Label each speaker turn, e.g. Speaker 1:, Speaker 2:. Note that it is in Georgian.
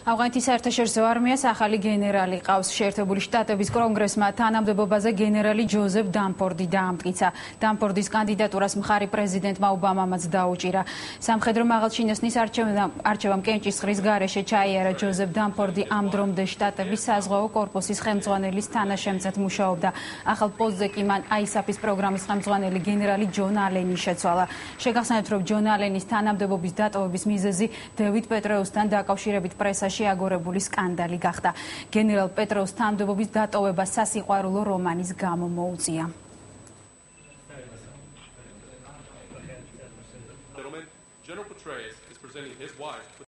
Speaker 1: ავღანეთის საერთაშორისო არმიას ახალი გენერალი ყავს. შეერთებული შტატების კონგრესმა თანამდებობაზე გენერალი ჯოზეფ დამფორდი დაამტკიცა. დამფორდის კანდიდატურას მხარი პრეზიდენტმა ობამამაც დაუჭირა. სამხედრო მაღალჩინოსნის არჩევამ კენჭისყრის გარეშე ჩაიარა ჯოზეფ დამფორდი ამ დრომდე შტატების საზღვაო კორპუსის ხელმძღვანელის თანაშემწედ მუშაობდა. ახალ პოსტზე კი მან ISAF-ის პროგრამის ხელმძღვანელი გენერალი ჯონ ალენი შეცვალა. შეგახსენებთ, რომ ჯონ ალენის თანამდებობის დატოვების მიზეზი დევიდ პეტრეუსთან დაკავშირებით პრესაში აგორებული სკანდალი გახდა. გენერალ პეტრეუს თანამდებობის დატოვება სასიყვარულო რომანის გამო მოუწია.
Speaker 2: General Petraeus is presenting his wife